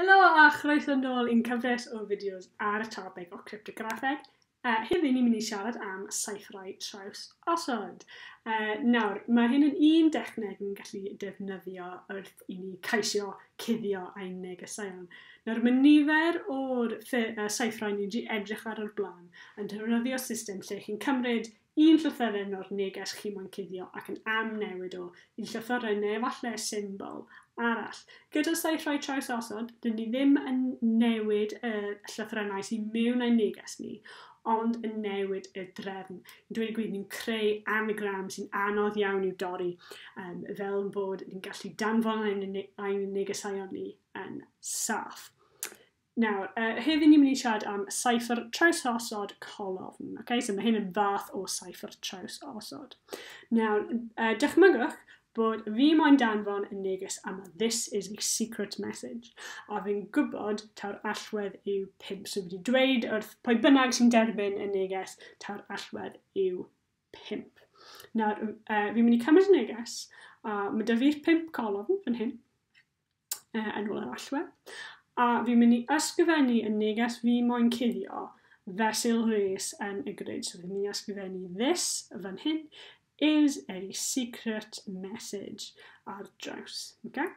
Helo a chroeso nôl i'n cyfres o fideos ar y topic o cryptograffeg. Heddiw ni'n mynd i siarad am seiffrau traws osod. Nawr, mae hyn yn un dechneg ni'n gallu defnyddio wrth i ni ceisio cuddio ein negeseuon. Nawr, mae nifer o'r seiffrau ni wedi edrych ar o'r blaen yn defnyddio system lle chi'n cymryd un llythyren o'r neges chi moyn cuddio ac yn amnewid o i llythyren neu efallai symbol arall. Gyda seiffrau traws osod, dyn ni ddim yn newid y llythrennau sy'n mewn ein neges ni, ond yn newid y drefn. Yn dweud y gwir, ni'n creu anagram sy'n anodd iawn i'w dorri, fel bod ni'n gallu danfon ein negeseuon ni yn saff. Nawr, heddiw ni'n mynd i siarad am seiffr traws osod colofn. Okay? So mae hyn yn fath o seiffr traws osod. Nawr, dychmygwch bod fi moyn danfon y neges yma. This is a secret message. A fi'n gwybod taw'r allwedd yw 5. So fi wedi dweud wrth pwy bynnag sy'n derbyn y neges taw'r allwedd yw 5. Nawr, fi'n mynd i cymryd y neges, a mae 'da fi'r 5 colofn fan hyn, yn ôl yr allwedd. A fi'n mynd i ysgrifennu y neges fi moyn cuddio fesul res yn y grid. So fi'n mynd i ysgrifennu "This" fan hyn "is a secret message" ar draws. Okay?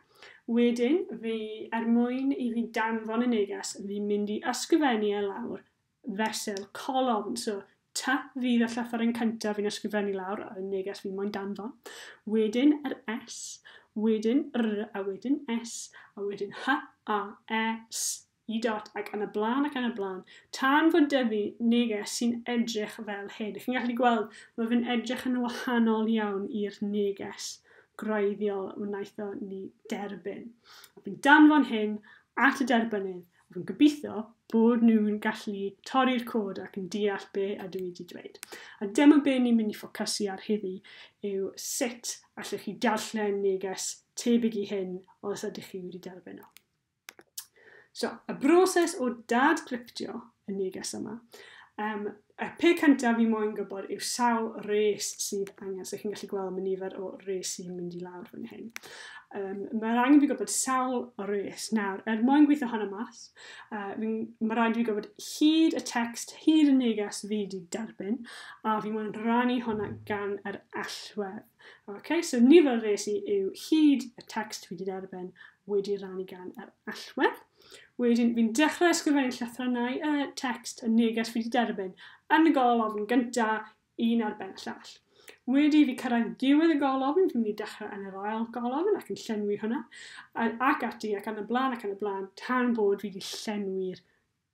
Wedyn, fi, er mwyn i fi danfon y neges, fi'n mynd i ysgrifennu e lawr fesul colofn. So, T fydd y llythyren cyntaf fi'n ysgrifennu lawr y neges fi moyn danfon. Wedyn yr S, wedyn R, a wedyn S, a wedyn H, A, E, S, I dot, ac yn y blaen ac yn y blaen, tan fod 'da fi neges sy'n edrych fel hyn. Chi'n gallu gweld, mae fe'n edrych yn wahanol iawn i'r neges gwreiddiol wnaethon ni derbyn. A fi'n danfon hyn at y derbynnydd, a fi'n gobeithio bod nhw'n gallu torri'r cod ac yn deall be ydw i wedi dweud. A dyma be ni'n mynd i ffocysu ar heddi yw sut allwch chi darllen neges tebyg i hyn os ydych chi wedi derbyn o. So, y broses o dadgryptio y neges yma, y peth cyntaf fi moyn gwybod yw sawl res sydd angen. So chi'n gallu gweld mae nifer o res sy'n mynd i lawr fan hyn. Mae'r angen fi gwybod sawl res. Nawr, er mwyn gweithio hwnna mas, mae rhaid i fi gwybod hyd y text, hyd y neges fi wedi derbyn, a fi moyn rannu hwnna gan yr allwedd. Okay, so nifer res i yw hyd y text fi wedi derbyn wedi rannu gan yr allwedd. Wedyn, fi'n dechrau ysgrifennu llythrennau y text, y neges fi wedi derbyn, yn y golofn gyntaf, un ar ben y llall. Wedi fi cyrraedd diwedd y golofn, fi'n mynd i dechrau yn yr ail golofn ac yn llenwi hwnna, ac ati, ac yn y blaen, ac yn y blaen, tan bod fi wedi llenwi'r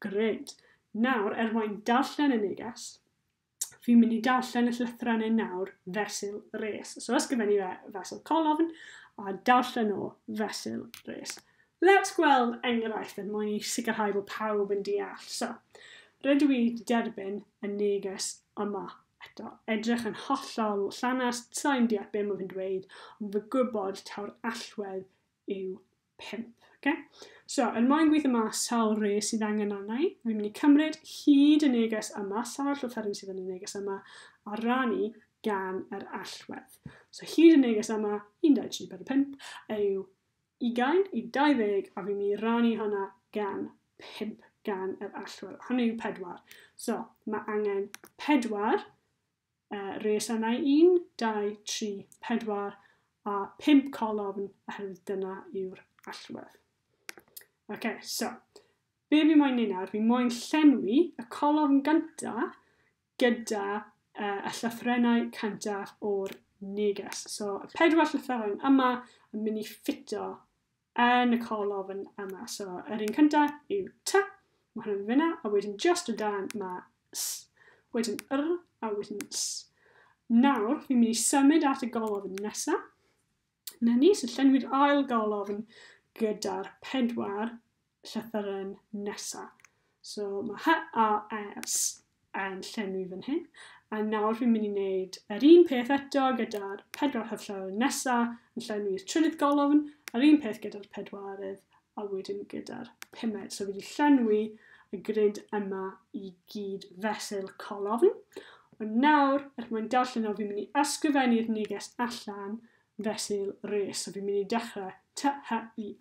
grid. Nawr, er mwyn darllen y neges, fi'n mynd i darllen y llythrennau nawr fesul res. So ysgrifennu fe fesul colofn a darllen o fesul res. Let's gweld enghraifft er mwyn i sicrhau bod pawb yn deall. So, rydw i wedi derbyn y neges yma. Eto, edrych yn hollol llanast, sa'n deall be mae fe'n dweud, ond fy gwybod taw'r allwedd yw 5. Okay? So, er mwyn gweithio mas sawl res sydd angen arna i, fi'n mynd i cymryd hyd y neges yma, sawl llythyren sydd yn y neges yma, a rannu gan yr allwedd. So, hyd y neges yma, 1, 2, 3, 4, 5, yw 20 i 20, a fi'n mynd i rannu hwnna gan 5 gan yr allwedd. Hynny yw 4. So, mae angen 4 res yna, 1, 2, 3, 4 a 5 colofn, oherwydd dyna yw'r allwedd. OK, so, be fi moyn neud nawr? Fi moyn llenwi y colofn gyntaf gyda y llythrennau cyntaf o'r neges. So, y 4 llythyren yma yn mynd i ffito yn y colofn yma. So, yr un cyntaf yw T, mae hwnna'n fyna, a wedyn just o dan mae S, wedyn R, a wedyn S. Nawr, fi'n mynd i symud at y golofn nesaf. Na ni, so llenwi'r ail golofn gyda'r 4 llythyren nesaf. So, mae H, A, S yn llenwi fan hyn. A nawr fi'n mynd i wneud yr un peth eto gyda'r 4 llythyren nesaf yn llenwi'r trydydd golofn, yr un peth gyda'r pedwarydd, a wedyn gyda'r pumed. So fi wedi llenwi y grid yma i gyd fesul colofn. Ond nawr, er mwyn darllen o, fi'n mynd i ysgrifennu'r neges allan fesul res. So fi'n mynd i dechrau T, H, I,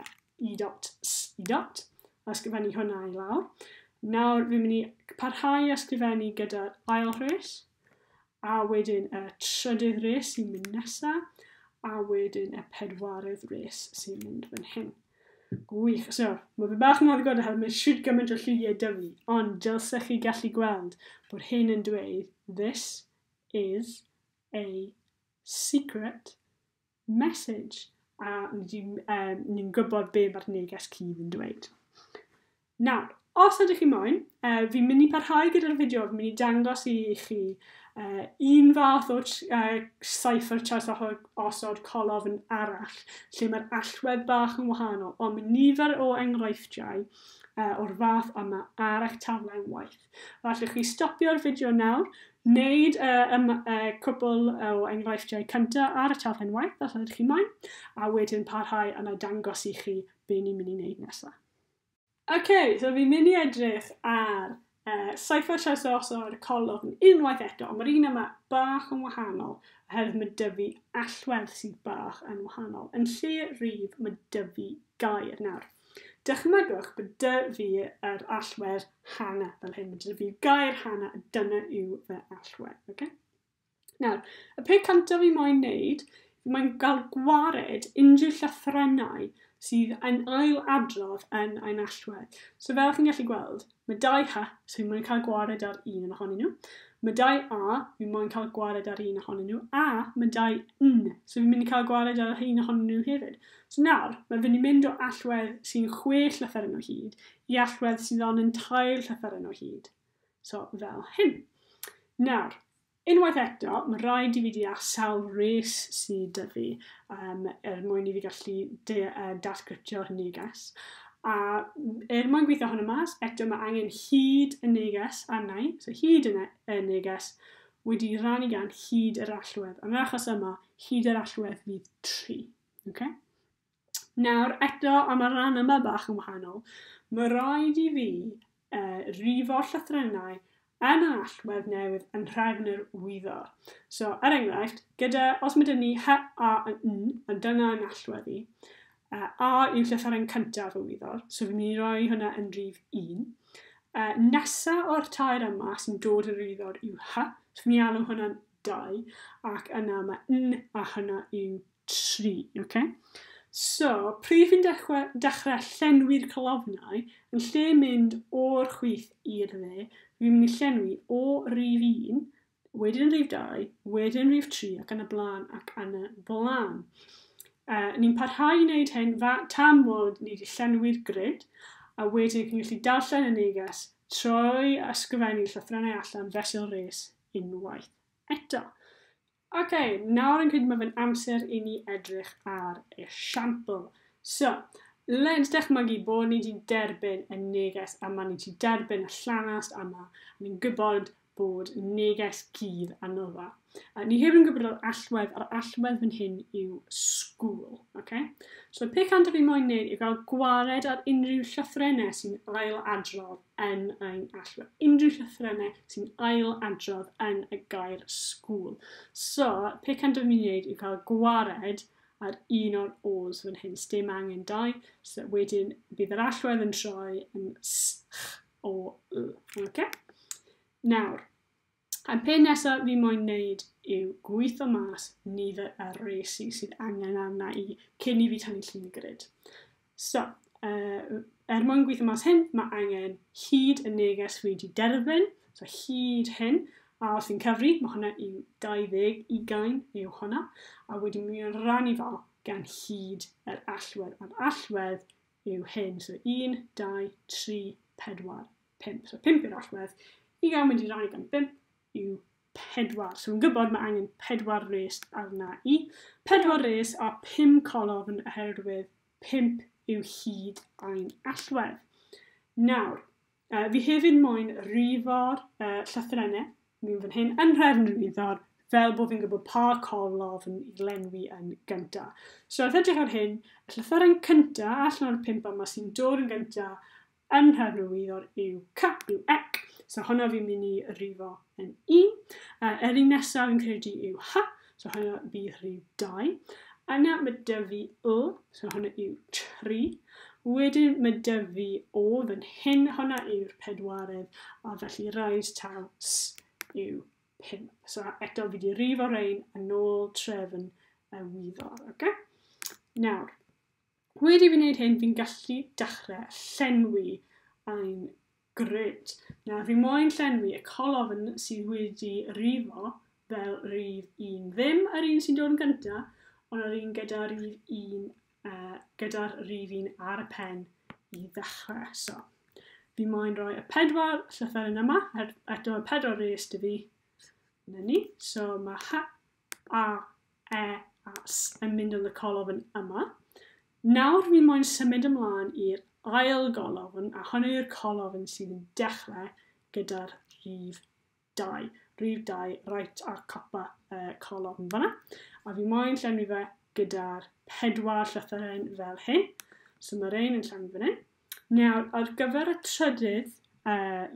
I dot, S, I dot. Ysgrifennu hwnna i lawr. Nawr fi'n mynd i parhau ysgrifennu gyda'r ail rhes, a wedyn y trydydd rhes sy'n mynd nesaf, a wedyn y pedwaredd res sy'n mynd fan hyn. Gwych. So, mae fe bach yn anodd oherwydd mae shwt gymaint o lliwiau 'da fi, ond dylsech chi gallu gweld bod hyn yn dweud "This is a secret message." A ni'n gwybod be mae'r neges cudd yn dweud. Nawr, os ydych chi moyn, fi'n mynd i parhau gyda'r fideo, fi'n mynd i dangos i chi un fath o cipher traws osod colofn arall, lle mae'r allwedd bach yn wahanol, ond mae nifer o enghreifftiau o'r fath yma ar eich taflen waith. Felly chi stopio'r fideo nawr, wneud cwpl o enghreifftiau cyntaf ar y taflen waith, os ydych chi moyn, a wedyn parhau yna dangos i chi be ni'n mynd i wneud nesaf. OK, so fi'n mynd i edrych ar cipher traws osod colofn unwaith eto, ond mae'r un yma bach yn wahanol, oherwydd mae 'da fi allwedd sydd bach yn wahanol. Yn lle rhif, mae 'da fi gair nawr. Dychmygwch bod 'da fi yr allwedd Hannah fel hyn. Mae 'da fi gair Hannah, a dyna yw fy allwedd. Okay? Nawr, y peth cyntaf fi moyn wneud, fi moyn gael gwared unrhyw llythrennau sydd yn ail adrodd yn ein allwedd. So fel chi'n gallu gweld, mae dau H, so fi moyn cael gwared ar un ohonyn nhw. Mae dau A, fi moyn cael gwared ar un ohonyn nhw. A mae dau N, so fi'n mynd i cael gwared ar un ohonyn nhw hefyd. So nawr, mae fi'n mynd o allwedd sy'n 6 llythyren o hyd i allwedd sydd ond yn 3 llythyren o hyd. So fel hyn. Nawr, unwaith eto, mae rhaid i fi deall sawl res sydd 'da fi er mwyn i fi gallu datgryptio'r neges. A er mwyn gweithio hwnna mas, eto mae angen hyd y neges arna i, so hyd y neges wedi rannu gan hyd yr allwedd. Yn yr achos yma, hyd yr allwedd fydd 3. Okay? Nawr, eto, am y rhan yma bach yn wahanol, mae rhaid i fi rifo'r llythrennau yn yr allwedd newydd yn nhrefn yr wyddor. So, er enghraifft, gyda, os mae 'da ni H, A, N, a dyna yn allwedd i, A yw llythyren cyntaf y wyddor, so fi'n mynd i roi hwnna yn rhif 1. Nesa o'r tair yma sy'n dod yn wyddor yw H, so fi'n mynd i alw hwnna'n 2, ac yna mae N a hwnna yw 3. Okay? So, pryd fi'n dechrau llenwi'r colofnau, yn lle mynd o'r chwith i'r dde, fi'n mynd i llenwi o rif 1, wedyn rhif 2, wedyn rhif 3, ac yn y blaen, ac yn y blaen. Ni'n parhau i wneud hyn tan bod ni wedi llenwi'r grid, a wedyn chi'n gallu darllen y neges trwy ysgrifennu llythrennau allan fesul res unwaith eto. OK, nawr yn credu mae fe'n amser i ni edrych ar esiampl. So, let's dychmygu bod ni wedi derbyn y neges yma, ni wedi derbyn y llanast yma, a ni'n gwybod bod neges gudd arno fe. Ni hefyd yn gwybod yr allwedd, a'r allwedd fan hyn yw school. Okay? So, y peth cyntaf fi moyn wneud yw gael gwared ar unrhyw llythrennau sy'n ail adrodd yn ein allwedd. Unrhyw llythrennau sy'n ail adrodd yn y gair school. So, peth cyntaf fi'n wneud yw cael gwared ar un o'r O's fan hyn. Sdim angen dau. So, wedyn bydd yr allwedd yn troi yn S, Ch, O, L. Okay? Nawr, y peth nesaf fi moyn wneud yw gweithio mas nifer y resi sydd angen arna i cyn i fi tynnu llun y grid. So, er mwyn gweithio mas hyn, mae angen hyd y neges fi wedi derbyn, so hyd hyn, a os fi'n cyfri, mae hwnna yw 20, 20 yw hwnna, a wedyn mi'n rannu fo gan hyd yr allwedd. A'r allwedd yw hyn, so 1, 2, 3, 4, 5. So 5 yw'r allwedd, 20 wedi rannu gan 5 yw 4. So fi'n gwybod mae angen 4 res arna i. 4 res a 5 colofn oherwydd 5 yw hyd ein allwedd. Nawr, fi hefyd moyn rifo'r llythrennau mewn fan hyn yn nhrefn yr wyddor fel bod fi'n gwybod pa colofn i lenwi yn gyntaf. So wrth edrych ar hyn, y llythyren cyntaf allan o'r 5 yma sy'n dod yn gyntaf yn nhrefn yr wyddor yw C, yw ec. So hwnna fi'n mynd i rifo yn 1. Yr un nesaf fi'n credu yw H, so hwnna bydd rhif 2. Yna mae 'da fi Y, so hwnna yw 3. Wedyn mae 'da fi O fan hyn, hwnna yw'r pedwaredd, a felly rhaid taw S yw 5. So eto fi wedi rifo rhain yn ôl trefn y wyddor. Okay? Nawr, wedi fi wneud hyn, fi'n gallu dechrau llenwi ein grid. Nawr, fi moyn llenwi y colofn sydd wedi rifo fel rif 1. Ddim yr un sy'n dod yn gyntaf, ond yr un gyda rif 1, gyda'r rif 1 ar y pen i ddechrau. So, fi moyn rhoi y 4 llythyren yma, eto y 4 res 'da fi. 'Na ni. So mae H, A, E a S yn mynd yn y colofn yma. Nawr fi moyn symud ymlaen i'r ail golofn, a hwn yw'r colofn sydd yn dechrau gyda'r rhif 2. Rhif 2, reit ar copa colofn fanna. A fi moyn llenwi fe gyda'r 4 llythyren fel hyn. So mae'r ein yn llenwi fan hyn. Nawr, ar gyfer y trydydd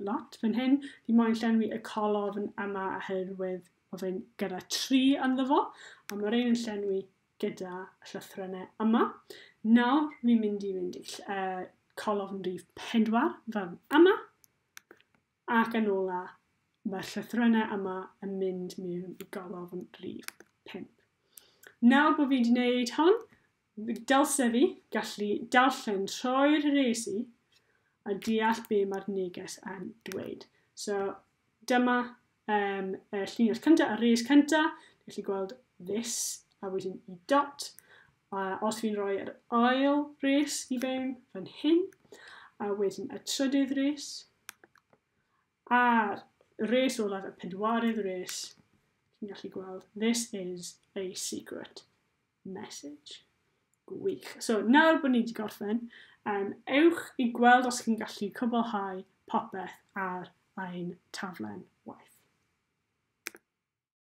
lot fan hyn, fi moyn llenwi y colofn yma oherwydd mae fe'n gyda 3 ynddo fo, a mae'r ein yn llenwi gyda llythrennau yma. Nawr, fi'n mynd i fynd i colofn rhif 4 fan yma, ac yn ola, mae'r llythrennau yma yn mynd mewn i golofn rhif 5. Nawr bod fi wedi gwneud hon, dylse fi gallu darllen trwy'r rhesi a deall be mae'r neges yn dweud. So dyma y llinell cyntaf, y res cyntaf, gallu gweld this a wedyn i dot. A os fi'n rhoi yr ail res i fewn fan hyn, a wedyn y trydydd res, a'r res olaf, y pedwaredd res, chi'n gallu gweld, "This is a secret message." Gwych. So, nawr bod ni wedi gorffen, ewch i gweld os chi'n gallu cwblhau popeth ar ein taflen waith.